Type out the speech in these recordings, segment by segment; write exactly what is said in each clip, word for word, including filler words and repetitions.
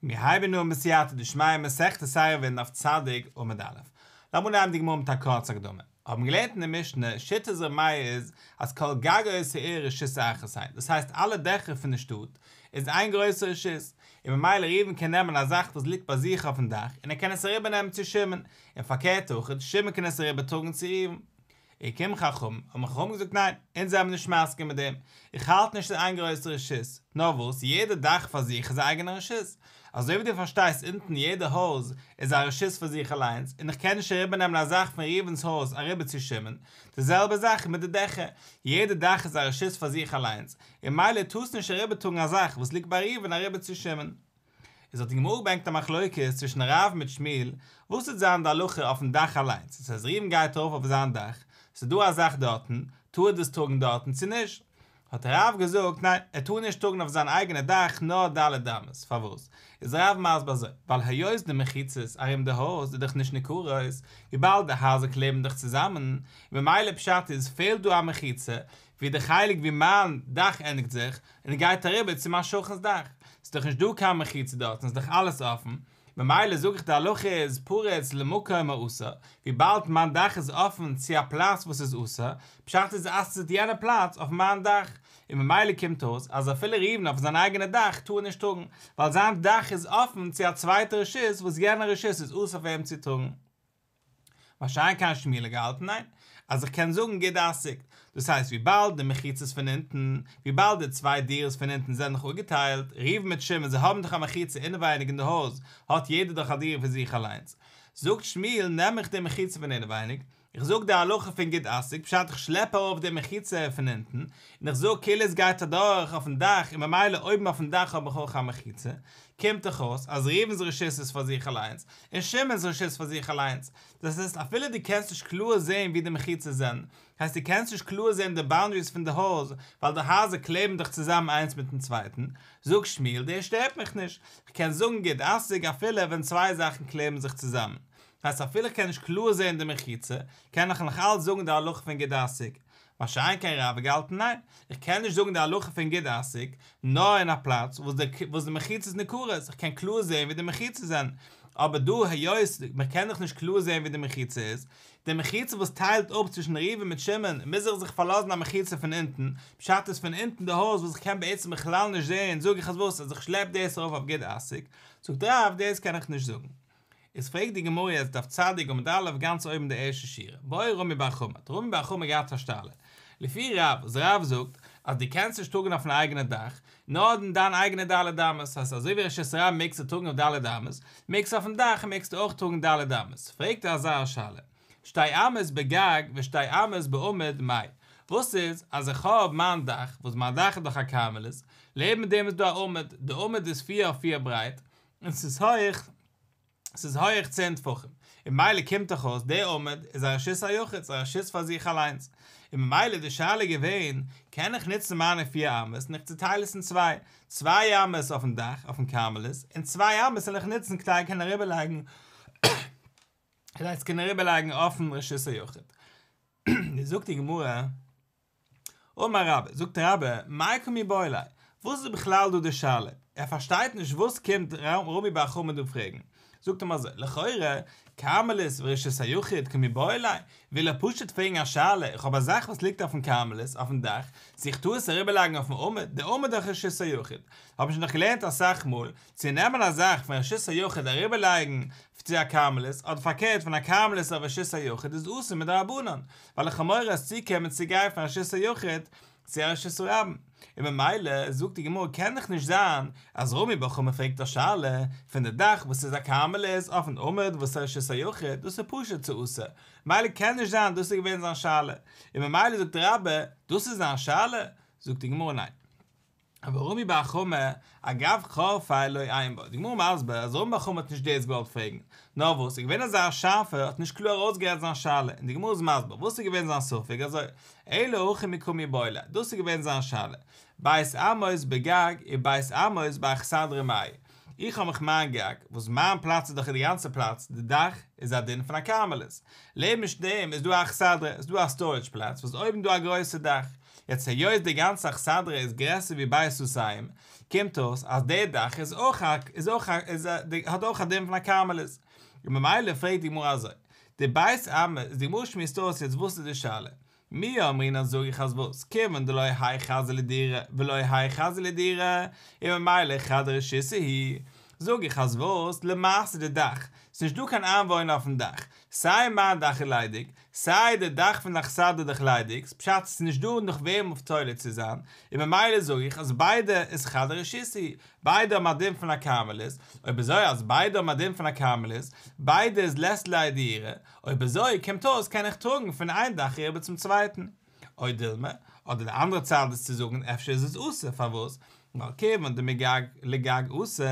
מיר הייבן אן בסייעתא דשמיא מסכת עירובין דף צדיק עמוד א'. לאמיר נעמען די גמרא מיט א קורצע הקדמה. האבן געלערנט אין די משנה, שיטת ר' מאיר איז אז כל גגות העיר רשות אחת הן, דאס הייסט אלע דעכער פון די שטאט איז איין גרויסע רשות, און ממילא ראובן קען נעמען א זאך וואס ליגט ביי זיך אויפן דאך און ער קען עס אריבערנעמען צו שמעון, און פארקערט אויך, שמעון קען עס אריבערטראגן צו ראובן. געקומען חכמים, האבן חכמים געזאגט ניין, אונז זעמיר נישט מסכים מיט דעם, איך האלט נישט ס'איז איין גרויסע רשות, נאר וואס, יעדע דאך פאר זיך איז א אייגענע רשות, אזוי ווי דו פארשטייסט אונטן יעדע הויז איז א רשות פאר זיך אליינס, און איך קען נישט אריבערנעמען א זאך פון ראובן'ס הויז אריבער צו שמעון, די זעלבע זאך מיט די דעכער, יעדע דאך איז א רשות פאר זיך אליינס, און ממילא טארסט נישט אריבערטראגן א זאך וואס ליגט ביי ראובן אריבער צו שמעון. איז האט די גמרא געברענגט א מחלוקת צווישן רב מיט שמואל, וואס וועט זיין די הלכה אויפן דאך אליינס, דאס הייסט ראובן גייט ארויף אויף זיין דאך, ס'איז דא א זאך דארטן, טאר ער דאס טראגן דארטן צו נישט? האט רב געזאגט, ניין, ער טאר נישט טראגן אויף זיין אייגענע דאך נאר ד' אמות, פארוואס? איז רב מסביר אזוי, ווייל היות די מחיצות ארום די הויז איז דאך נישט ניכרות, וויבאלד די הייזער קלעבן דאך צוזאמען, ממילא פשט איז פעלט דא א מחיצה, ווי די חלק ווי מיין דאך ענדיגט זיך און גייט אריבער צו מיין שכן'ס דאך, ס'איז דאך נישט דא קיין מחיצה דארטן, ס'איז דאך אלעס אפן, ממילא זאג איך די הלכה איז פרוץ למקום האסור, וויבאלד מיין דאך איז אפן צו א פלאץ וואס איז אסור, פשט איז אסר'ט יענע פלאץ אויף מיין דאך, און ממילא קומט אויס אז אפילו ראובן אויף זיין אייגענע דאך טאר ער נישט טראגן, ווייל זיין דאך איז אפן צו א צווייטע רשות וואס יענע רשות איז אסור פאר אים צו טראגן. מה שאין כן שמואל האט געהאלטן ניין, אז איך קען זאגן גוד אסיק, דאס הייסט וויבאלד די מחיצות פון אונטן, וויבאלד די צוויי דירות פון אונטן זענען דאך אפגעטיילט, ראובן מיט שמעון זיי האבן דאך א מחיצה אינעווייניג אין די הויז, האט יעדער דאך א דירה פאר זיך אליינס. זאגט שמואל נעם איך די מחיצה פון אינעווייניג, איך זאג די הלכה פון גוד אסיק, פשט איך שלעפ ארויף די מחיצה פון אונטן, און איך זאג כאילו עס גייט אדורך אויפן דאך און ממילא אויבן אויפן דאך האב איך אויך א מחיצה, קומט דאך אויס אז ראובן'ס רשות איז פאר זיך אליינס, און שמעון'ס רשות איז פאר זיך אליינס. דאס הייסט אפילו דו קענסט נישט קלאר זען ווי די מחיצות זענען, הייסט דו קענסט נישט קלאר זען די באונדעריס פון די הויז, ווייל די הייזער קלעבן דאך צוזאמען איינס מיטן צווייטן, זאגט שמואל דאס שטערט מיך נישט, כ'קען זאגן גוד אסיק אפילו ווען צוויי זאכן קלעבן זיך צוזאמען. הייסט אפילו איך קען נישט קלאר זען די מחיצה, קען איך נאך אלץ זאגן די הלכה פון גוד אסיק. מה שאין כן רב האט געהאלטן ניין, איך קען נישט זאגן די הלכה פון גוד אסיק, נאר אין א פלאץ וואס די וואס די מחיצה איז ניכרות, איך קען קלאר זען ווי די מחיצות זענען, אבער דא היות מען קען דאך נישט קלאר זען ווי די מחיצה איז, די מחיצה וואס טיילט אפ צווישן ראובן מיט שמעון, מוז איך זיך פארלאזן א מחיצה פון אונטן, פשט איז פון אונטן די הויז וואס איך קען בעצם בכלל נישט זען, זאג איך אז וואס אז איך שלעפ דאס ארויף אויף גוד אסיק, זאגט רב דאס קען איך נישט זאגן. איז פרעגט די גמרא יעצט דף צדיק עמוד א' גאנץ אויבן די ערשטע שורה, בעי רמי בר חמא, האט רמי בר חמא געהאט א שאלה, לפי רב, וואס רב זאגט אז דו קענסט נישט טראגן אויפן אייגענע דאך, נאר אין דיין אייגענע ד' אמות, הייסט אזוי ווי רשות הרבים מעגסטו טראגן אויף ד' אמות, מעגסטו אויפן דאך מעגסטו אויך טראגן ד' אמות, פרעגט ער אזא שאלה, שתי אמות בגג ושתי אמות בעמוד מאי, וואס איז אז איך האב מיין דאך, וואס מיין דאך איז דאך א כרמלית, לעבן דעם איז דא א עמוד, די עמוד איז פיר אויף פיר ברייט, און ס'איז הויך, ס'איז הויעך צען טפחים, און ממילא קומט דאך אויס דער עמוד איז א רשות היחיד, ס'איז א רשות פאר זיך אליינס, און ממילא איז די שאלה געווען, קען איך נוצן מיינע פיר אמות און איך צוטייל עס אין צוויי, צוויי אמות אויפן דאך, אויפן כרמלית, און צוויי אמות זאל איך נוצן כדי קענען אריבערלייגן, כדי צו קענען אריבערלייגן אויפן רשות היחיד. זאגט די גמרא. אמר רבה, זאגט רבה, מאי קא מיבעיא ליה, וואס איז בכלל דא די שאלה? ער פארשטייט נישט וואס קומט רמי בר חמא דא פרעגן. זאגט אים אזוי, לכאורה, כרמלית ורשות היחיד קא מיבעיא ליה, וויל ער פשוט פרעגן א שאלה, איך האב א זאך וואס ליגט אויפן כרמלית, אויפן דאך, צו איך טאר עס אריבערלייגן אויפן עמוד, די עמוד איז דאך רשות היחיד. האב איך שוין דאך געלערנט אסאך מאל, צו נעמען א זאך פון רשות היחיד אריבערלייגן צו א כרמלית, אדער פארקערט פון א כרמלית אויף רשות היחיד איז אסור מדרבנן, ווייל איך האב מורא עס צוקומען צו גיין פון רשות היחיד צו א רשות הרבים, און ממילא זאגט די גמרא קען דאך נישט זיין אז רמי בר חמא פרעגט א שאלה פון די דאך וואס איז א כרמלית אויפן עמוד וואס איז רשות היחיד, דאס איז פשוט ס'איז אסור, ממילא קען נישט זיין דאס איז געווען זיין שאלה, און ממילא זאגט רבה דאס איז זיין שאלה, זאגט די גמרא ניין. אבער רמי בר חמא, אגב חורפיה לא עיין בה, די גמרא מסביר אז רמי בר חמא האט נישט דאס געוואלט פרעגן, נאר וואס איז געווען אזא שארפער האט נישט קלאר ארויסגערעדט זיין שאלה, און די גמרא איז מסביר וואס איז געווען זיין ספק אזוי, אלא הכי קא מיבעיא ליה, דאס איז געווען זיין שאלה, ב' אמות בגג וב' אמות באכסדרה מאי, איך האב מיך מיין גג, וואס מיין פלאץ איז דאך די גאנצע פלאץ, די דאך איז א דין פון א כרמלית, לעבן דעם איז דא א אכסדרה, איז דא א סטארעדזש פלאץ וואס אויבן דא א גרויסע דאך, יעצט היות די גאנצע אכסדרה איז גרעסער ווי בית סאתים, קומט אויס אז דער דאך איז אויך א, איז אויך א, איז א, האט אויך א דין פון א כרמלית. און ממילא פרעגט די גמרא אזוי, די בית אמות, די גמרא שמועסט אויס יעצט וואס איז די שאלה? מי אמרינן זאג איך אז וואס, כיוון דלא האי חזי לדירה ולא האי חזי לדירה, און ממילא חד רשותא הוא, זאג איך אז וואס, למעשה די דאך, ס'נישט דא קיין איינוואוינער אויפן דאך, סיי מיין דאך איז ליידיג, סיי די דאך פון די אכסדרה איז דאך ליידיג, פשט ס'איז נישט דא נאך וועם אויף תולה צו זיין, און ממילא זאג איך אז ביידע איז חד רשותא הוא, ביידע האבן א דין פון א כרמלית, אויב אזוי אז ביידע האבן א דין פון א כרמלית, ביידע איז לית ליה דירה, אויב אזוי קומט אויס קען איך טראגן פון איין דאך אריבער צום צווייטן. או דילמא, אדער די אנדערע צד איז צו זאגן אפשר איז עס אסור, פארוואס? ווייל כיוון דמגג לגג אסור,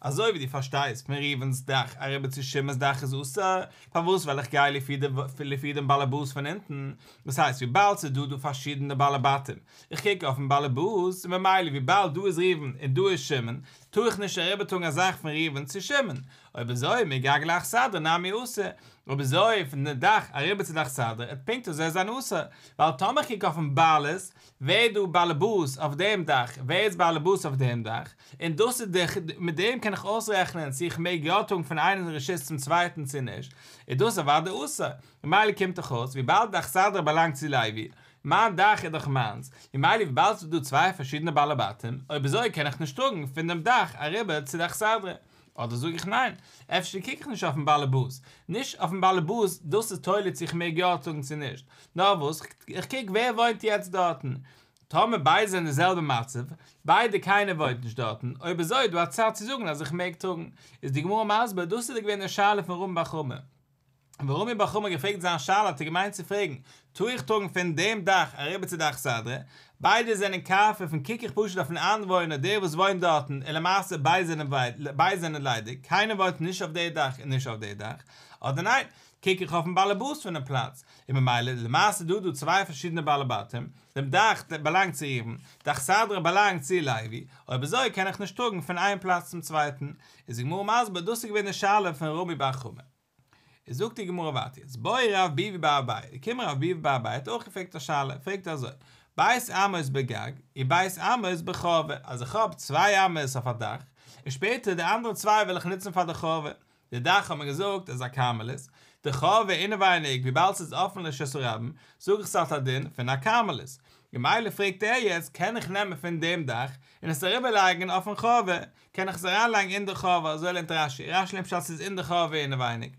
אזוי ווי דו פארשטייסט פון ראובן'ס דאך אריבער צו שמעון'ס דאך איז אסור, פארוואס ווייל איך גיי לפי די לפי דעם באלעבאס פון אונטן, דאס הייסט וויבאלד ס'איז דא דא פארשידענע בעלי בתים, איך קוק אויפן באלעבאס, און ממילא וויבאלד דא איז ראובן און דא איז שמעון, טאר איך נישט אריבערטראגן א זאך פון ראובן צו שמעון, אויב אזוי מגג לאכסדרה נמי אסור, אויב אזוי פון די דאך אריבער צו די אכסדרה עט פונקט אזוי זיין אסור, ווייל טאמער איך קוק אויפן בעלות, ווער איז דא באלעבאס אויף דעם דאך, ווער איז באלעבאס אויף דעם דאך, און דאס איז די, מיט דעם קען איך אויסרעכענען צו איך מעג יא טראגן פון איינעם רשות צום צווייטן צו נישט, איז דאס אוודאי אסור, ממילא קומט דאך אויס וויבאלד די אכסדרה באלאנגט צו לוי, מיין דאך איז דאך מיינס, ממילא וויבאלד ס'איז דא צוויי פארשידענע בעלי בתים, אויב אזוי קען איך נישט טראגן פון דעם דאך אריבער צו די אכסדרה. אדער זאג איך ניין, אפשר קוק איך נישט אויפן באלעבאס, נישט אויפן באלעבאס, דאס איז תולה צו איך מעג יא טראגן צו נישט, נאר וואס, איך קוק ווער וואוינט יעצט דארטן, טאמער ביידע זענען די זעלבע מצב, ביידע קיינער וואוינט נישט דארטן, אויב אזוי איז דא א צד צו זאגן אז איך מעג טראגן, איז די גמרא מסביר, דאס איז געווען די שאלה פון רמי בר חמא. ווען רמי בר חמא האט געפרעגט זיין שאלה האט ער געמיינט צו פרעגן, טאר איך טראגן פון דעם דאך אריבער צו די אכסדרה? ביידע זענען קרפף און קוק איך פשוט אויפן איינוואוינער דער וואס וואוינט דארטן און למעשה ביידע זענען ביידע זענען ליידיג, קיינער וואוינט נישט אויף די דאך און נישט אויף די דאך, אדער ניין, קוק איך אויפן באלעבאס פונעם פלאץ, און ממילא למעשה דא דא צוויי פארשידענע בעלי בתים, דעם דאך באלאנגט צו ראובן, די אכסדרה באלאנגט צו לוי, אויב אזוי קען איך נישט טראגן פון איין פלאץ צום צווייטן, איז די גמרא מסביר דאס איז געווען די שאלה פון רמי בר חמא. איז זאגט די גמרא ווייטער יעצט, בעי רב ביבי בר אביי, געקומען רב ביבי בר אביי האט אויך געפרעגט א שאלה, פרעגט ער אזוי, ב' אמות בגג, וב' אמות בחורבה, אז איך האב צוויי אמות אויף א דאך, און שפעטער די אנדערע צוויי וועל איך נוצן פאר די חורבה, די דאך האט מען געזאגט איז א כרמלית, די חורבה אינעווייניג וויבאלד ס'איז אפן לרשות הרבים, זאג איך ס'האט א דין פון א כרמלית, ממילא פרעגט ער יעצט קען איך נעמען פון דעם דאך און עס אריבערלייגן אויפן חורבה, קען איך עס אריינלייגן אין די חורבה, אזוי לערנט רש"י, רש"י לערנט פשט ס'איז אין די חורבה אינעווייניג.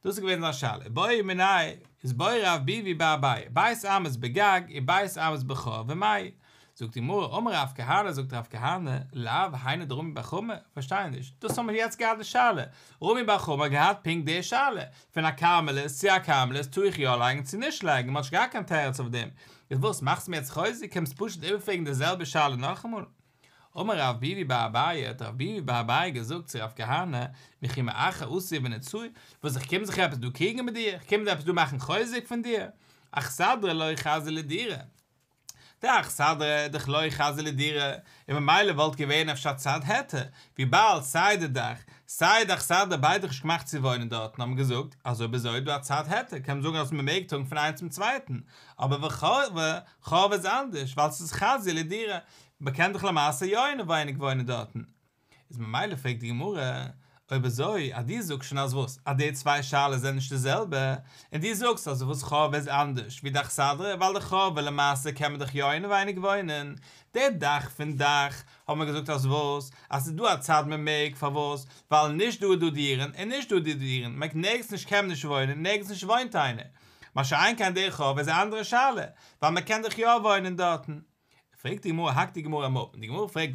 דאס איז געווען זיין שאלה, בעא מיניה, איז בעי רב ביבי בר אביי, ב' אמות בגג וב' אמות בחורבה מאי. זאגט די גמרא, אמר רב כהנא, זאגט רב כהנא, לאו היינו דרמי בר חמא, פארשטיי נישט, דאס האבן מיר יעצט געהאט די שאלה, רמי בר חמא האט געהאט פונקט די שאלה, פון א כרמלית צו א כרמלית טאר איך יא לייגן צו נישט לייגן, מ'האט נישט געהאט קיין תירוץ אויף דעם, איז וואס מאכסט מיר יעצט חוזק, קומסט פשוט איבערפרעגן די זעלבע שאלה נאכאמאל? אמר רב ביבי בר אביי, האט רב ביבי בר אביי געזאגט צו רב כהנא, וכי מאחר אתי ונצאי, וואס איך קום זיך עפעס דא קריגן מיט דיר, איך קום דא עפעס דא מאכן חוזק פון דיר? אכסדרה לא חזיא לדירה. די אכסדרה איז דאך לא חזיא לדירה, און ממילא וואלט געווען אפשר צד היתר, וויבאלד סיי די דאך, סיי די אכסדרה ביידע נישט געמאכט צו וואוינען דארטן האבן געזאגט אז אויב אזוי איז דא א צד היתר קען מען זאגן אז מען מעג טראגן פון איינס צום צווייטן, אבער וחורבה, חורבה איז אנדערש ווייל ס'איז חזיא לדירה, מען קען דאך למעשה יא אינעווייניג וואוינען דארטן. איז ממילא פרעגט די גמרא, אויב אזוי אז דו זאגסט שוין אז וואס? אז די צוויי שאלות זענען נישט די זעלבע, און דו זאגסט אז וואס חורבה איז אנדערש ווי די אכסדרה ווייל די חורבה למעשה קען מען דאך יא אינעווייניג וואוינען, די דאך פון דאך האט מען געזאגט אז וואס? אז ס'איז דא א צד מען מעג, פארוואס? ווייל נישט דא איז דא דירן און נישט דא איז דא דירן, מען נערגעץ נישט קען מען נישט וואוינען, נערגעץ נישט וואוינט איינער. מה שאין כן די חורבה איז א אנדערע שאלה, ווייל מען קען דאך יא וואוינען דארטן. פרעגט די גמרא, האקט די גמרא אים אפ, און די גמרא פרעגט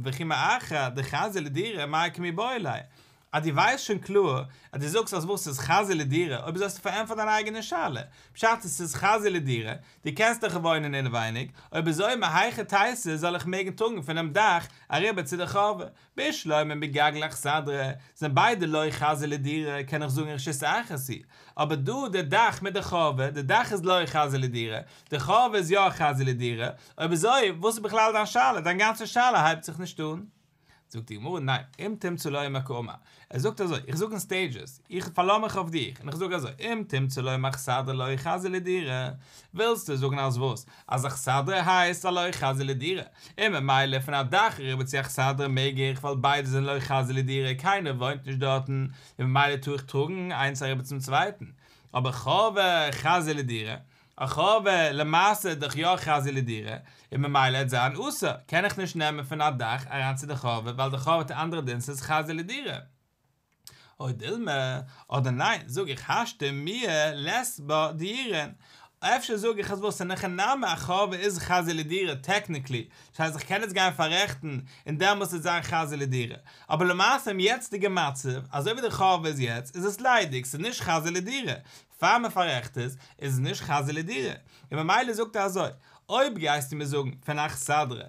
וכי מאחר דחזיא לדירה מאי קמיבעיא ליה, אז דו ווייסט שוין קלאר אז דו זאגסט אז וואס ס'איז חזיא לדירה, אויב אזוי האסטו פארענטפערט דיין אייגענע שאלה, פשט איז ס'איז חזיא לדירה, דו קענסט דאך וואוינען אינעווייניג, אויב אזוי מהיכי תיתי זאל איך מעגן טראגן פונעם דאך אריבער צו די חורבה, בשלמא מגג לאכסדרה, זענען ביידע לא חזיא לדירה, קען איך זאגן רשות אחת היא, אבער דא די דאך מיט די חורבה, די דאך איז לא חזיא לדירה, די חורבה איז יא חזיא לדירה, אויב אזוי וואס איז בכלל דיין שאלה, דיין גאנצע שאלה הייבט זיך נישט אן. זאגט די גמרא, ניין, אם תמצא לומר קאמר. ער זאגט אזוי, איך זאג אין stages, איך פארלאז מיך אויף דיך, און איך זאג אזוי, אם תמצא לומר אכסדרה לא חזיא לדירה, ווילסטו זאגן אז וואס? אז אכסדרה הייסט א לא חזיא לדירה. און ממילא פון א דאך אריבער צו אכסדרה מעג איך, ווייל ביידע זענען לא חזיא לדירה, קיינער וואוינט נישט דארטן, און ממילא טאר איך טראגן איינס אריבער צום צווייטן. אבער חורבה חזיא לדירה, א חורבה למעשה דאך יא חזיא לדירה, און ממילא וועט זיין אסור, קען איך נישט נעמען פון א דאך אריין צו די חורבה, ווייל די חורבה האט א אנדערע דין, ס'איז חזיא לדירה. או דילמא, אדער ניין, זאג איך השתא מיהא לית בה דיורין. אפשר זאג איך אז וואס, אין הכי נמי א חורבה איז חזיא לדירה, technically. דאס הייסט איך קען עס גיין פאררעכטן, און דעמאלטס וועט זיין חזיא לדירה. אבער למעשה im יעצטיגע מצב, אזוי ווי די חורבה איז יעצט, איז עס ליידיג, ס'איז נישט חזיא לדירה. פאר מען פאררעכט עס, איז עס נישט חזיא לדירה. און ממילא זאגט ער אזוי, אויב גייסטו מיר זאגן, פון אכסדרה,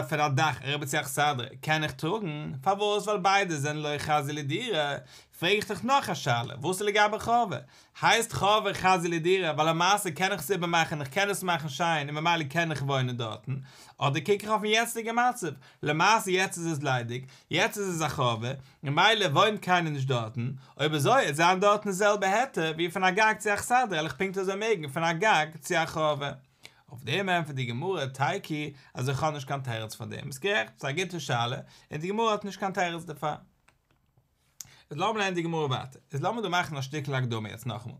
פון א דאך, אריבער צו אכסדרה, קען איך טראגן, פארוואס? ווייל ביידע זענען לא חזיא לדירה. פרעג איך דיך נאך א שאלה, וואס איז לגבי חורבה? הייסט חורבה חזיא לדירה, ווייל למעשה קען איך עס איבערמאכן, איך קען עס מאכן שיין, און ממילא קען איך וואוינען דארטן. אדער קוק איך אויפן יעצטיגן מצב, למעשה יעצט איז עס ליידיג, יעצט איז עס א חורבה, ממילא וואוינט קיינער נישט דארטן, אויב אזוי, וועט זיין דארטן די זעלבע היתר, ווי פון א גג צו אכסדרה, וועל איך פונקט אזוי מעגן פון א גג צו א חורבה. אויף דעם ענטפערט די גמרא תיקו, אז איך האב נישט קיין תירוץ פון דעם. איז גערעכט, ס'איז א גוטע שאלה, און די גמרא האט נישט קיין תירוץ דערפאר. איז לאמיר לערנען די גמרא ווייטער. איז לאמיר דא מאכן א שטיקל הקדמה יעצט נאכאמאל.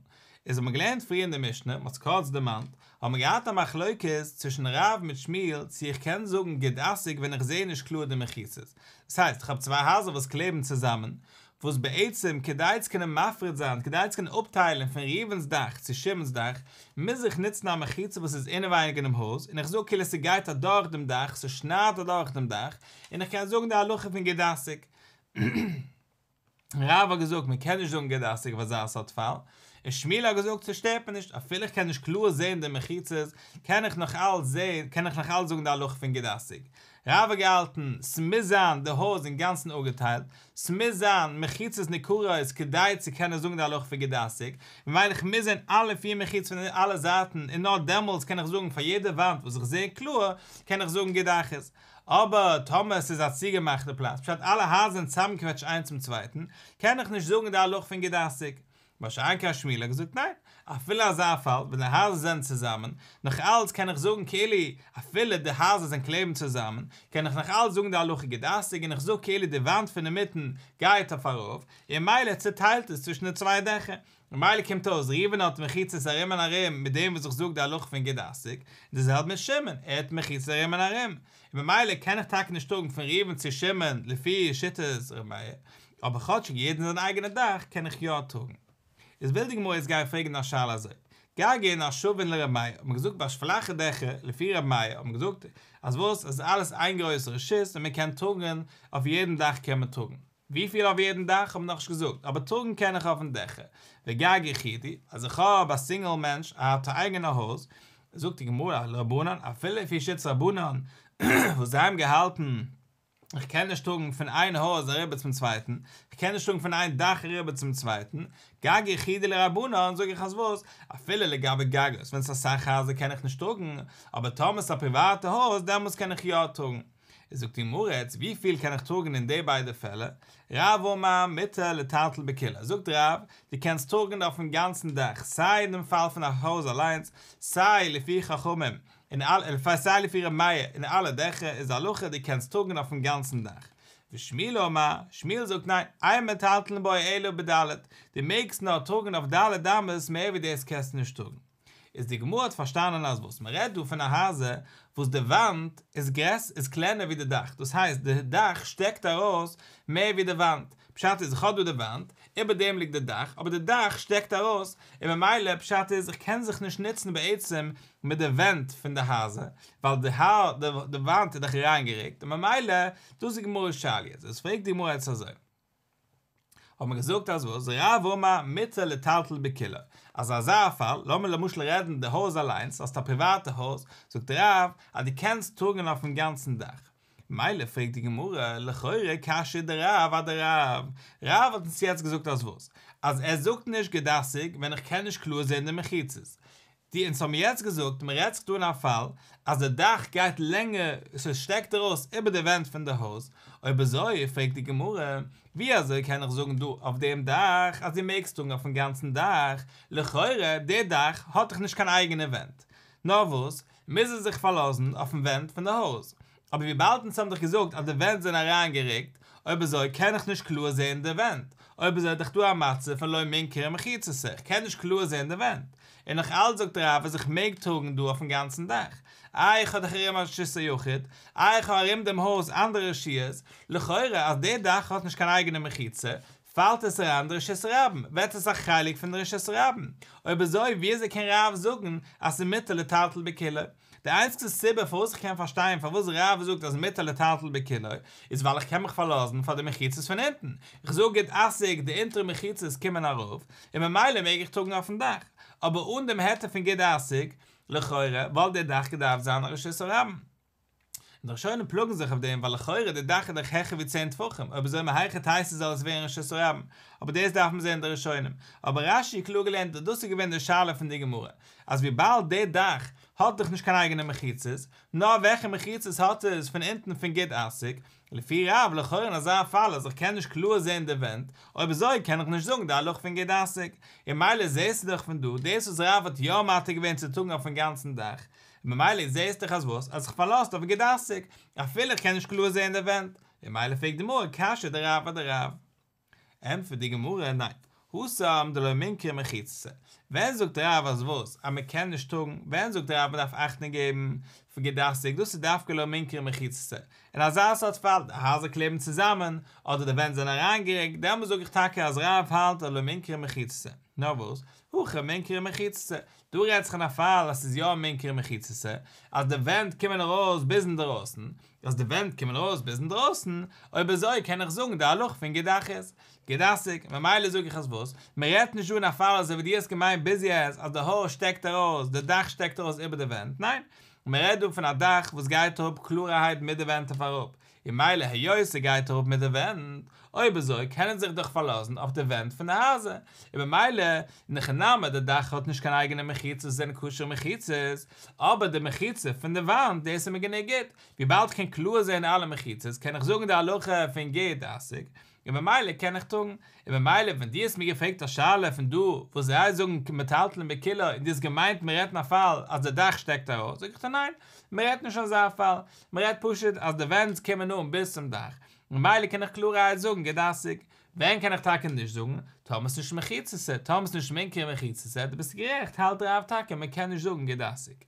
איז האבן מיר געלערנט פריער אין די משנה, מ'האט עס קורץ דערמאנט, האבן מיר געהאט א מחלוקת צווישן רב מיט שמואל צו איך קען זאגן גוד אסיק ווען איך זע נישט קלאר די מחיצות. דאס הייסט, איך האב צוויי הייזער וואס קלעבן צוזאמען, וואס בעצם כדי צו קענען מפריד זיין, כדי צו קענען אפטיילן פון ראובן'ס דאך צו שמעון'ס דאך, מוז איך נוצן א מחיצה וואס איז אינעווייניג אינעם הויז, און איך זאג כאילו ס'גייט אדורך דעם דאך, ס'שניידט אדורך דעם דאך, און איך קען זאגן די הלכה פון גוד אסיק. רב האט געזאגט מען קען נישט זאגן גוד אסיק אויף אזא סארט פאל, און שמואל האט געזאגט ס'שטערט מיר נישט, אפילו איך קען נישט קלאר זען די מחיצות, קען איך נאך אלץ זען, קען איך נאך אלץ זאגן די הלכה פון גוד אסיק. רב האט געהאלטן, ס'מוז זיין די הויז אינגאנצן אפגעטיילט, ס'מוז זיין מחיצות ניכרות כדי צו קענען זאגן די הלכה פון גוד אסיק, ממילא איך מוז זען אלע פיר מחיצות פון אלע זייטן און נאר דעמאלטס קען איך זאגן פאר יעדע וואנט וואס איך זע קלאר, קען איך זאגן גוד אחית. אבער טאמער עס איז א צוגעמאכטע פלאץ, פשט אלע הייזער זענען צוזאמגעקוועטשט איינס צום צווייטן, קען איך נישט זאגן די הלכה פון גוד אסיק. מה שאין כן שמואל האט געזאגט ניין, אפילו אזא פאל ווען די הייזער זענען צוזאמען, נאך אלץ קען איך זאגן כאילו אפילו די הייזער זענען קלעבן צוזאמען, קען איך נאך אלץ זאגן די הלכה גוד אסיק און איך זאג כאילו די וואנט פון אינמיטן גייט אויף ארויף, און ממילא צוטיילט עס צווישן די צוויי דעכער. ממילא קומט אויס ראובן האט מחיצות ארום און ארום מיט דעם וואס איך זאג די הלכה פון גוד אסיק, און די זעלבע מיט שמעון, ער האט מחיצות ארום און ארום, און ממילא קען איך טאקע נישט טראגן פון ראובן צו שמעון לפי שיטת ר' מאיר, אבער כאטשיג יעדן זיין אייגענע דאך קען איך יא טראגן. איז וויל די גמרא יעצט גיין פרעגן א שאלה אזוי, גגין השווין לר' מאיר, האט מען געזאגט ביי פלאכע דעכער לפי ר' מאיר, האט מען געזאגט אז וואס? אז אלעס איין גרויסע רשות און מען קען טראגן אויף יעדן דאך קען מען טראגן. וויפיל אויף יעדן דאך האב נאך נישט געזאגט, אבער טראגן קען איך אויפן דעכער. וגג יחידי, אז איך האב א סינגל מענטש, ער האט א אייגענע הויז, זאגט די גמרא לרבנן, אפילו לפי שיטת רבנן, וואס זיי האבן געהאלטן, איך קען נישט טראגן פון איין הויז אריבער צום צווייטן, איך קען נישט טראגן פון איין דאך אריבער צום צווייטן, גג יחידי לרבנן, זאג איך אז וואס, אפילו לגבי גגות, ווען ס'איז אסאך הייזער קען איך נישט טראגן, אבער טאמער ס'איז א פריוואטע הויז, דעמאלטס קען איך יא טראגן. זאגט די גמרא יעצט, וויפיל קען איך טראגן אין די ביידע פעלער? רב אמר מותר לטלטל בכולו. זאגט רב, דו קענסט טראגן אויפן גאנצן דאך, סיי אין דעם פאל פון א הויז אליינס, סיי לפי חכמים, אין אלע, סיי לפי ר' מאיר, אין אלע דעכער איז הלכה דו קענסט טראגן אויפן גאנצן דאך. ושמואל אמר, שמואל זאגט ניין, אין מטלטלין בו אלא בד', דו מעגסט נאר טראגן אויף ד' אמות, מער ווי דאס קענסטו נישט טראגן. איז די גמרא האט פארשטאנען אז וואס מען רעדט דא פון א הייזער וואס די וואנט איז גרעס איז קלענער ווי די דאך, דאס הייסט די דאך שטעקט ארויס מער ווי די וואנט, פשט איז איך האב דא די וואנט, איבער דעם ליגט די דאך, אבער די דאך שטעקט ארויס, און ממילא פשט איז איך קען זיך נישט נוצן בעצם מיט די ווענט פון די הייזער, ווייל די די וואנט איז דאך אריינגערוקט, און ממילא דאס איז גמרא'ס שאלה יעצט, איז פרעגט די גמרא יעצט אזוי. האט מען געזאגט אז וואס רב אמר מותר לטלטל בכולו, אז אזא פאל, לאמיר למשל רעדן די הויז אליינס, האסט א פריוואטע הויז, זאגט רב אז דו קענסט טראגן אויפן גאנצן דאך. מילא פרעגט די גמרא, לכאורה קשיא דרב אדרב, רב האט אונז יעצט געזאגט אז וואס? אז ער זאגט נישט גוד אסיק ווען איך קען נישט קלאר זען די מחיצות. די אונז האבן יעצט געזאגט, מען רעדט זיך דא אין א פאל, אז די דאך גייט לענגער, עס שטעקט ארויס איבער די ווענט פון די הויז. אויב אזוי, פרעגט די גמרא, ווי אזוי קען איך זאגן דא אויף דעם דאך, אז דו מעגסט טראגן אויפן גאנצן דאך? לכאורה, דער דאך האט דאך נישט קיין אייגענע ווענט. נאר וואס, מוז ער זיך פארלאזן אויפן ווענט פון די הויז. אבער וויבאלד אונז האבן דאך געזאגט אז די ווענט זענען אריינגעריקט, אויב אזוי קען איך נישט קלאר זען די ווענט. אויב אזוי איז דאך דא א מצב פון לא מינכרא מחיצתא, איך קען נישט קלאר זען די ווענט. און נאך אלץ זאגט רב אז איך מעג טראגן דא אויפן גאנצן דאך. איי איך האב דאך ארום א רשות היחיד, איי איך האב ארום דעם הויז אנדערע רשויות, לכאורה אז דער דאך האט נישט קיין אייגענע מחיצה, פאלט עס אריין אין די רשות הרבים, ווערט עס א חלק פון די רשות הרבים. אויב אזוי, ווי אזוי קען רב זאגן אז ס'איז מותר לטלטל בכולו? די איינציגסטע סיבה פארוואס איך קען פארשטיין פארוואס רב זאגט אז מותר לטלטל בכולו, איז ווייל איך קען מיך פארלאזן פאר די מחיצות פון אונטן. איך זאג גוד אסיק, די אונטערע מחיצות קומען ארויף, און ממילא מעג איך טראגן אויפן דאך. אבער אן דעם היתר פון גוד אסיק, לכאורה וואלט דער דאך געדארפט זיין א רשות הרבים. און די ראשונים פלאגן זיך אויף דעם, ווייל לכאורה דער דאך איז דאך העכער ווי צען טפחים, אויב אזוי מהיכי תיתי זאל עס ווערן רשות הרבים. אבער דאס דארף מען זען אין די ראשונים. אבער רש"י קלאר געלערנט אז דאס איז געווען די שאלה פון די גמרא, אז וויבאלד דער דאך האט דאך נישט קיין אייגענע מחיצות, נאר וועלכע מחיצות האט עס פון אונטן פון גוד אסיק, לפי רב לכאורה אין אזא פאל אז איך קען נישט קלאר זען די ווענט, אויב אזוי קען איך נישט זאגן די הלכה פון גוד אסיק. און ממילא זעסטו דאך פון דא, דאס וואס רב האט יא מתיר געווען צו טראגן אויפן גאנצן דאך, ממילא זעסטו דאך אז וואס? אז איך פארלאזט אויף גוד אסיק, אפילו איך קען נישט קלאר זען די ווענט. און ממילא פרעגט די גמרא, קשיא דרב אדרב. ענטפערט די גמרא, ניין, התם דלא מינכרא מחיצתא. ווען זאגט רב אז וואס? אז מען קען נישט טראגן? ווען זאגט רב מען דארף אכטונג געבן פון גוד אסיק? דאס איז דווקא לא מינכרא מחיצתא. אין אזא סארט פאל, די הייזער קלעבן צוזאמען, אדער די ווענט זענען אריינגעריקט, דעמאלס זאג איך טאקע אז רב האלט אז לא מינכרא מחיצתא. נאר וואס? הכא מינכרא מחיצתא. דא רעדט זיך אין א פאל אז ס'איז יא מינכרא מחיצתא, אז די ווענט קומען ארויס ביז אינדערויסן, אז די ווענט קומען ארויס ביז אינדרויסן, אויב אזוי קען איך זאגן די הלכה פון גוד אחית, גוד אסיק, ממילא זאג איך אז וואס? מען רעדט נישט דא אין א פאל אזוי ווי דו האסט געמיינט ביז יעצט אז די הויז שטעקט ארויס, די דאך שטעקט ארויס איבער די ווענט, ניין, מען רעדט דא פון א דאך וואס גייט אראפ קלארערהייט מיט די ווענט אויף אראפ, און ממילא היות ס'גייט אראפ מיט די ווענט, אויב אזוי קען ער זיך דאך פארלאזן אויף די ווענט פון די הייזער, און ממילא, אין הכי נמי די דאך האט נישט קיין אייגענע מחיצות וואס זענען כשר'ע מחיצות, אבער די מחיצה פון די וואנט דאס איז מיר גענוג גוט, וויבאלד כ'קען קלאר זען אלע מחיצות קען איך זאגן די הלכה פון גוד אסיק, און ממילא קען איך טראגן, און ממילא ווען דו האסט מיר געפרעגט א שאלה פון דא וואס זיי זאגן מטלטלין בכולו און דו האסט געמיינט מען רעדט אין א פאל אז די דאך שטעקט ארויס, זאג איך דיר ניין, מען רעדט נישט אזא פאל, מען רעדט פשוט אז די ווענט קומען אן ביז צום דאך, ממילא קען איך קלארערהייט זאגן גוד אסיק. ווען קען איך טאקע נישט זאגן? טאמער ס'נישט מחיצתא, טאמער ס'נישט מינכרא מחיצתא, דו ביסט גערעכט, האלט רב טאקע מען קען נישט זאגן גוד אסיק.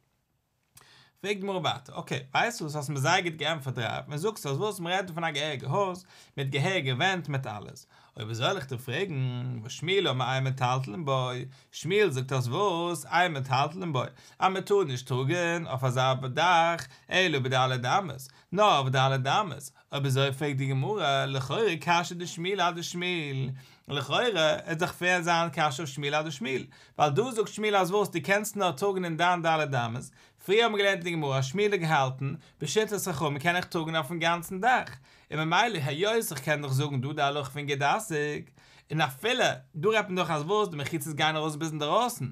פרעגט די גמרא ווייטער, אקעי, ווייסט וואס, האסט מיר זייער גוט געענטפערט רב, ווען זאגסטו אז וואס, מען רעדט דא פון א געהעריגע הויז, מיט געהעריגע ווענט, מיט אלעס. אויב אזוי וועל איך דיר פרעגן, והא שמואל אמר אין מטלטלין בו, שמואל זאגט אז וואס, אין מטלטלין בו, אז מען טאר נישט טראגן אויף אזא דאך, אלא בד' אמות, נאר אויף ד' אמות, אויב אזוי פרעגט די גמרא, לכאורה קשיא דשמואל אדשמואל, לכאורה איז דאך שווער זיין קשיא אויף שמואל אדשמואל, ווייל דא זאגט שמואל אז וואס, דו קענסט נאר טראגן אין דיין ד' אמות, פריער האבן מיר געלערנט אין די גמרא אז שמואל האט געהאלטן, בשיטת חכמים קען איך טראגן אויפן גאנצן דאך, און ממילא היות איך קען דאך זאגן דא די הלכה פון גוד אסיק, און אפילו דא רעדט מען דאך אז וואס, די מחיצות גייען ארויס ביז אינדערויסן,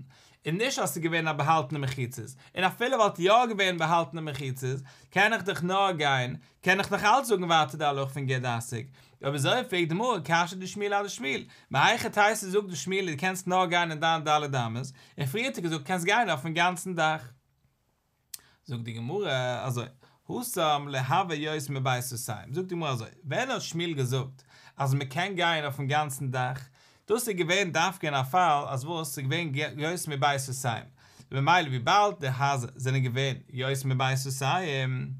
און נישט אז ס'איז געווען א באהאלטענע מחיצות, און אפילו וואלט יא געווען באהאלטענע מחיצות, קען איך דאך נאר גיין, קען איך נאך אלץ זאגן ווייטער די הלכה פון גוד אסיק. אויב אזוי פרעגט די גמרא קשיא דשמואל אדשמואל, מהיכי תיתי זאגט דא שמואל דו קענסט נאר גיין אין דיין ד' אמות, און פריער האט ער געזאגט קענסט גיין אויפן גאנצן דאך. זאגט די גמרא אזוי, התם לא הוה יותר מבית סאתים, זאגט די גמרא אזוי, ווען האט שמואל געזאגט אז מען קען גיין אויפן גאנצן דאך, דאס איז געווען דווקא אין א פאל אז וואס ס'איז געווען יותר מבית סאתים, ממילא וויבאלד די הייזער זענען געווען יותר מבית סאתים,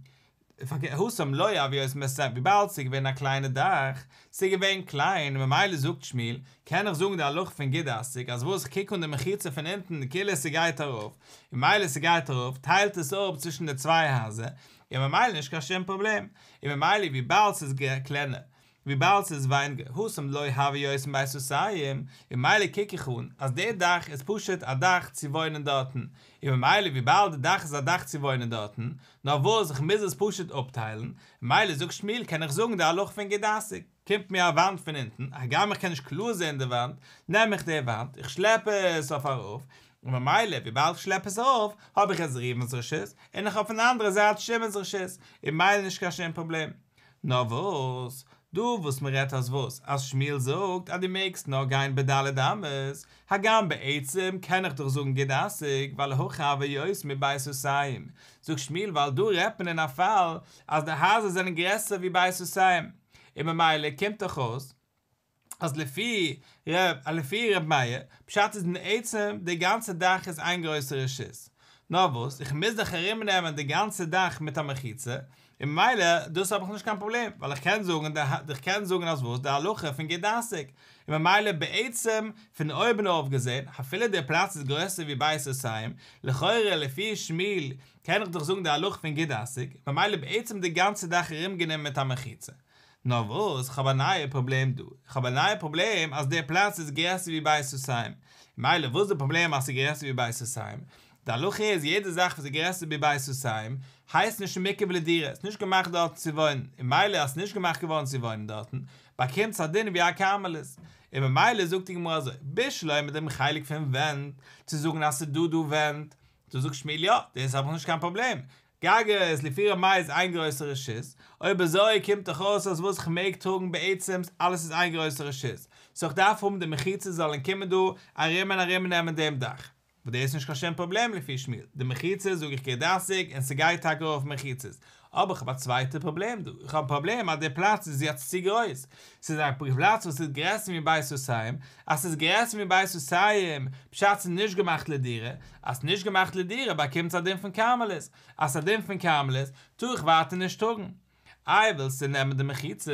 התם לא הוה יותר מבית סאתים, וויבאלד ס'איז געווען א קליינע דאך, ס'איז געווען קליין, ממילא זאגט שמואל, קען איך זאגן די הלכה פון גוד אסיק, אז וואס כ'קוק אן די מחיצה פון אונטן כאילו ס'גייט ארויף, ממילא ס'גייט ארויף, טיילט עס אפ צווישן די צוויי הייזער, און ממילא נישט קיין שום פראבלעם, און ממילא וויבאלד ס'איז קלענער, וויבאלד ס'איז ווייניגער, התם לא הוה יותר מבית סאתים, און ממילא קוק איך אן אז דער דאך איז פשוט א דאך צו וואוינען דארטן, און ממילא וויבאלד די דאך איז א דאך צו וואוינען דארטן, נאר וואס איך מוז עס פשוט אפטיילן, ממילא זאגט שמואל קען איך זאגן די הלכה פון גוד אסיק, קומט מיר א וואנט פון אונטן, הגם איך קען נישט קלאר זען די וואנט, נעם איך די וואנט, איך שלעפ עס אויף ארויף, און ממילא, וויבאלד איך שלעפ עס ארויף, האב איך יעצט ראובן'ס רשות, און איך האב פון די אנדערע זייט שמעון'ס רשות, און ממילא נישט קיין שום פראבלעם. נאר וואס? דא וואס מען רעדט אז וואס? אז שמואל זאגט אז דו מעגסט נאר גיין בד' אמות, הגם בעצם קען איך דאך זאגן גוד אסיק, ווייל הכא הוה יותר מבית סאתים. זאגט שמואל ווייל דא רעדט מען אין א פאל אז די הייזער זענען גרעסער ווי בית סאתים, און ממילא קומט דאך אויס אז לפי ר' לפי ר' מאיר, פשט איז אין עצם די גאנצע דאך איז איין גרויסע רשות. נאר וואס, איך מוז דאך ארומנעמען די גאנצע דאך מיט א מחיצה, און ממילא דאס האב איך נישט קיין פראבלעם, ווייל איך קען זאגן די איך קען זאגן אז וואס די הלכה פון גוד אסיק, און ממילא בעצם פון אויבן אויף געזען, אפילו דער פלאץ איז גרעסער ווי בית סאתים, לכאורה לפי שמואל קען איך דאך זאגן די הלכה פון גוד אסיק, ממילא בעצם די גאנצע דאך ארומגענומען מיט א מחיצה. נאר וואס, איך האב א נייע פראבלעם דא. איך האב א נייע פראבלעם אז דער פלאץ איז גרעסער ווי בית סאתים. ממילא וואס איז די פראבלעם אז ס'איז גרעסער ווי בית סאתים? די הלכה איז יעדע זאך וואס איז גרעסער ווי בית סאתים הייסט נישט מוקף לדירה, ס'איז נישט געמאכט דארטן צו וואוינען, און ממילא אז ס'איז נישט געמאכט געווארן צו וואוינען דארטן, באקומט עס א דין ווי א כרמלית. און ממילא זאגט די גמרא אזוי, בשלמא דעם חלק פון ווענט, צו זאגן אז ס'איז דא דא ווענט, דא זאגט שמואל יא, דאס האב איך נישט קיין פראבלעם, גגות לפי ר' מאיר איז איין גרויסע רשות, אויב אזוי קומט דאך אויס אז וואס כ'מעג טראגן בעצם אלעס איז איין גרויסע רשות, סאו כ'דארף האבן די מחיצות זאלן קומען דא ארום און ארום נעמען דעם דאך, וואס דאס איז נישט קיין שום פראבלעם לפי שמואל, די מחיצות זאג איך גוד אסיק און ס'גייט טאקע ארויף מחיצות, אבער כ'האב א צווייטע פראבלעם דא, איך האב א פראבלעם אז די פלאץ איז יעצט צו גרויס, ס'איז א פלאץ וואס איז גרעסער ווי בית סאתים, אז ס'איז גרעסער ווי בית סאתים, פשט ס'איז נישט געמאכט לדירה, אז ס'איז נישט געמאכט לדירה באקומט עס א דין פון כרמלית, אז ס'איז א דין פון כרמלית, טאר איך ווייטער נישט טראגן. איי ווילסטו נעמען די מחיצות?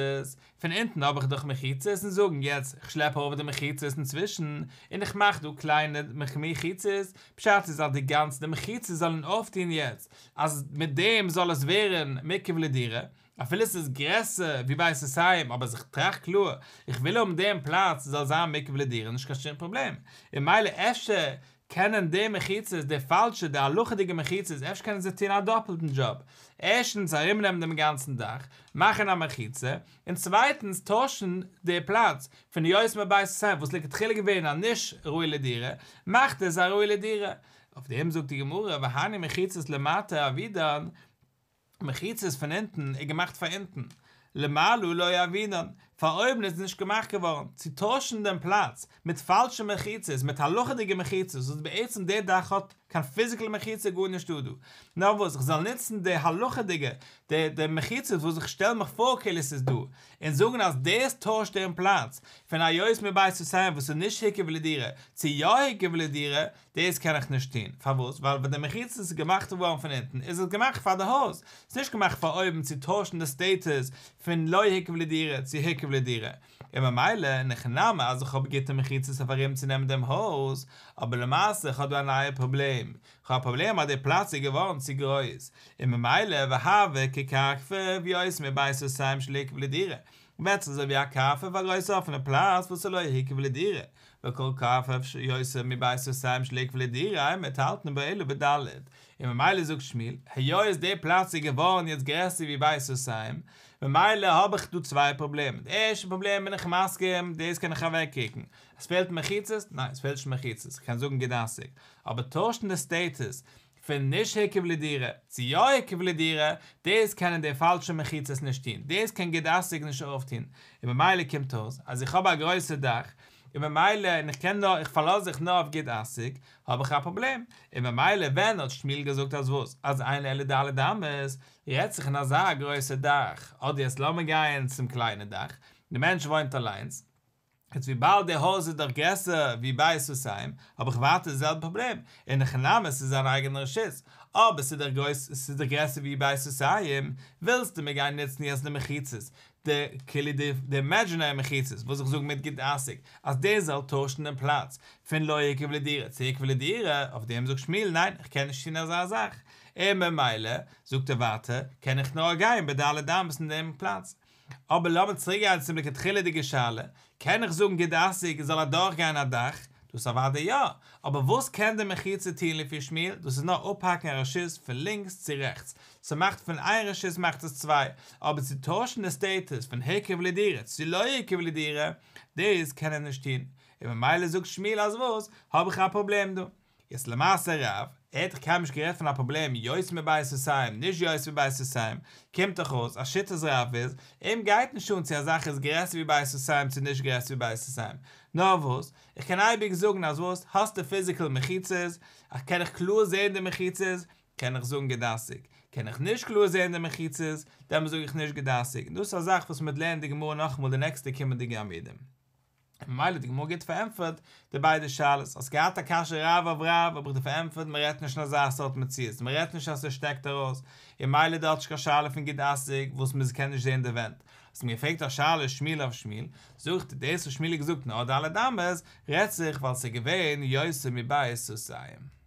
פון אונטן האב איך דאך מחיצות און זאגן יעצט איך שלעפ ארויף די מחיצות אינצווישן און איך מאך דא קליינע מחיצות, פשט איז אז די גאנצע די מחיצות זאלן אויפטון יעצט אז מיט דעם זאל עס ווערן מוקף לדירה, אפילו עס איז גרעסער ווי בית סאתים אבער אז איך טראכט קלאר איך וויל האבן דעם פלאץ זאל זיין מוקף לדירה נישט קיין שום פראבלעם, און ממילא אפשר קענען די מחיצות, די פאלשע, די הלכה'דיגע מחיצות, אפשר קענען זיי טון א דאפלטן דזשאב. ערשטנס ארומנעמען דעם גאנצן דאך, מאכן א מחיצה, און צווייטנס טוישן די פלאץ פון יותר מבית סאתים וואס לכתחילה געווען א נישט ראוי לדירה, מאכט עס א ראוי לדירה. אויף דעם זאגט די גמרא, והני מחיצות למטה עבידן, מחיצות פון אונטן איז געמאכט פאר אונטן, למעלה לא עבידן, פאר אויבן איז נישט געמאכט געווארן, צו טוישן דעם פלאץ מיט פאלשע מחיצות, מיט הלכה'דיגע מחיצות, וואס בעצם דער דאך האט קיין פיזיקעל מחיצה גארנישט דא דא, נאר וואס איך זאל נוצן די הלכה'דיגע, די די מחיצות וואס איך שטעל מיך פאר כאילו עס איז דא, און זאגן אז דאס טוישט דעם פלאץ פון א יותר מבית סאתים וואס איז נישט הוקף לדירה, צו יא הוקף לדירה, דאס קען איך נישט טון, פארוואס? ווייל ווען די מחיצות איז געמאכט געווארן פון אונטן איז עס געמאכט פאר די הויז, ס'איז נישט געמאכט פאר אויבן צו טוישן די סטעטוס פון לא הוקף לדירה צו הוקף לדירה, און ממילא אין הכי נמי אז איך האב גוטע מחיצות אויף ארום צו נעמען דעם הויז, אבער למעשה איך האב דא א נייע פראבלעם, איך האב א פראבלעם אז די פלאץ איז געווארן צו גרויס, און ממילא והוי כקרפף יותר מבית סאתים שלא הוקף לדירה, ווערט עס אזוי ווי א קרפף א גרויסע אפענע פלאץ וואס איז לא הוקף לדירה, וכל קרפף שיותר מבית סאתים שלא הוקף לדירה אין מטלטלין בו אלא בד', און ממילא זאגט שמואל, היות די פלאץ איז געווארן יעצט גרעסער ווי בית סאתים, ממילא האב איך דא צוויי פראבלעמען, די ערשטע פראבלעם בין איך מסכים, דאס קען איך אוועקרוקן, עס פעלט מחיצות? ניין עס פעלט נישט מחיצות, איך קען זאגן גוד אסיק, אבער טוישן די סטעטוס פון נישט הוקף לדירה צו יא הוקף לדירה, דאס קענען די פאלשע מחיצות נישט טון, דאס קען גוד אסיק נישט אויפטון, און ממילא קומט אויס אז איך האב א גרויסע דאך, און ממילא און איך קען נאר איך פארלאז זיך נאר אויף גוד אסיק, האב איך א פראבלעם, און ממילא ווען האט שמואל געזאגט אז וואס? אז אין אלא ד' אמות, רעדט זיך אין אזא גרויסע דאך, אדער יעצט לאמיר גייען צום קליינע דאך, די מענטש וואוינט אליינס, יעצט וויבאלד די הויז איז דאך גרעסער ווי בית סאתים, האב איך ווייטער די זעלבע פראבלעם, אין הכי נמי ס'איז זיין אייגענע רשות, אבער ס'איז דאך גרויס, ס'איז דאך גרעסער ווי בית סאתים, ווילסטו מיר גיין נוצן יעצט די מחיצות, די כאילו די די אימעדזשינערי מחיצות וואס איך זאג מיט גוד אסיק, אז דאס זאל טוישן דעם פלאץ פון לא הוקף לדירה צו הוקף לדירה, אויף דעם זאגט שמואל ניין איך קען נישט טון אזא זאך, און ממילא זאגט ער ווייטער קען איך נאר גיין בד' אמות אין דעם פלאץ. אבער לאמיר צוריק גיין צום לכתחילה'דיגע שאלה, קען איך זאגן גוד אסיק זאל אדורך גיין א דאך? דאס אוודאי יא, אבער וואס קען די מחיצה טוהן לפי שמואל? דאס איז נאר אפהאקן א רשות פון לינקס צו רעכטס, ס'מאכט פון איין רשות מאכט עס צוויי, אבער צו טוישן די סטעטוס פון הוקף לדירה צו לא הוקף לדירה, דאס קען ער נישט טוהן, און ממילא זאגט שמואל אז וואס, האב איך א פראבלעם דא. יעצט למעשה רב, ער האט דאך קיינמאל נישט גערעדט פון א פראבלעם יותר מבית סאתים, נישט יותר מבית סאתים, קומט דאך אויס אז שיטת רב איז, אים גייט נישט אן צו א זאך איז גרעסער ווי בית סאתים צו נישט גרעסער ווי בית סאתים. נאר וואס, איך קען אייביג זאגן אז וואס, האסט די פיזיקל מחיצות, איך קען איך קלאר זען די מחיצות, קען איך זאגן גוד אסיק. קען איך נישט קלאר זען די מחיצות, דאן זאג איך נישט גוד אסיק. און דאס איז א זאך וואס מ'וועט לערנען די גמרא נאכאמאל די נעקסטע קומענדיגע עמודים. ממילא די גמרא גוט פארענטפערט די ביידע שאלות. האסט געהאט א קשיא רב אויף רב, האב איך דיר פארענטפערט, מען רעדט נישט אין אזא סארט מציאות, מען רעדט נישט אז עס שטעקט ארויס, און ממילא דארט נישט קיין שאלה פון גוד אסיק וואס מען קען נישט זען די ווענט. האסט מיר געפרעגט א שאלה שמואל אויף שמואל, זאג איך דיר, דאס וואס שמואל האט געזאגט נאר ד' אמות, רעדט זיך ווייל ס'איז געווען יותר מבית סאתים.